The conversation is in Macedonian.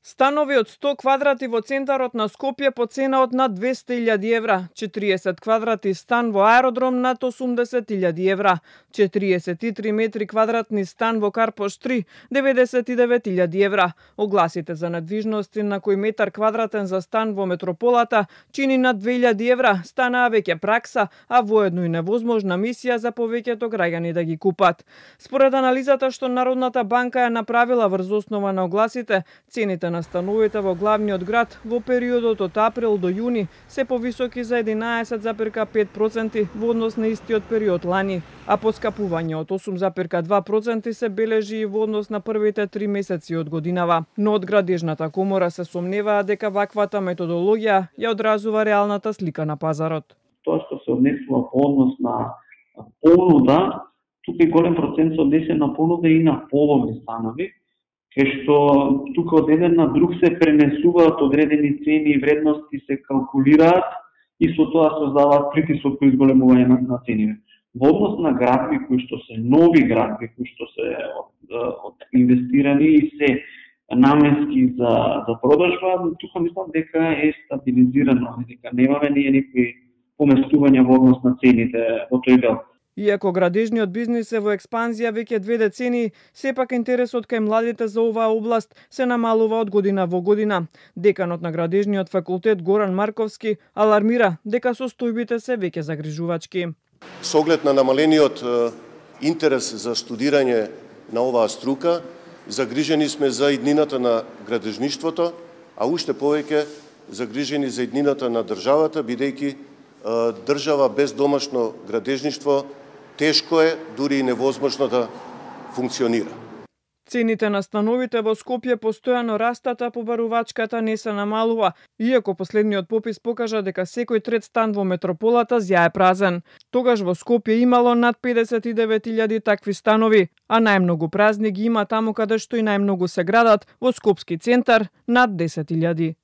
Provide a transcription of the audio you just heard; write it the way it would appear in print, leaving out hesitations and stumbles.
Станови од 100 квадрати во центарот на Скопје по цена од над 200.000 евра, 40 квадрати стан во аеродром над 80.000 евра, 43 метри квадратни стан во Карпош 3, 99.000 евра. Огласите за недвижности на кој метар квадратен за стан во метрополата чини над 2.000 евра станаа веќе пракса, а воедно и невозможна мисија за повеќето граѓани да ги купат. Според анализата што Народната банка ја направила врз основа на огласите, цените на становите во главниот град во периодот од април до јуни се повисоки за 11,5% во однос на истиот период лани, а поскапување од 8,2% се бележи и во однос на првите 3 месеци од годинава. Но од Градежната комора се сомневаат дека ваквата методологија ја одразува реалната слика на пазарот. Тоа што се однесува по однос на понуда, тука и голем процент се однесен на понуда и на половни станови, кај што тука од еден на друг се пренесуваат одредени цени и вредности, се калкулираат и со тоа создаваат притисок кој изголемување на цените. Во однос на градби кои што се нови градби, кои што се инвестирани и се наменски за продажба, тука мислам дека е стабилизирано, дека немаме никакви поместувања во однос на цените во тој дел. Иако градежниот бизнис е во експанзија веќе 2 децении, сепак интересот кај младите за оваа област се намалува од година во година. Деканот на градежниот факултет Горан Марковски алармира дека состојбите се веќе загрижувачки. Со оглед на намалениот интерес за студирање на оваа струка, загрижени сме за иднината на градежништвото, а уште повеќе загрижени за иднината на државата, бидејќи држава без домашно градежништво тешко е, дури и невозможно да функционира. Цените на становите во Скопје постојано растат, а побарувачката не се намалува, иако последниот попис покажа дека секој трет стан во метрополата зјае празен. Тогаш во Скопје имало над 59.000 такви станови, а најмногу празни ги има таму каде што и најмногу се градат, во Скопски центар над 10.000.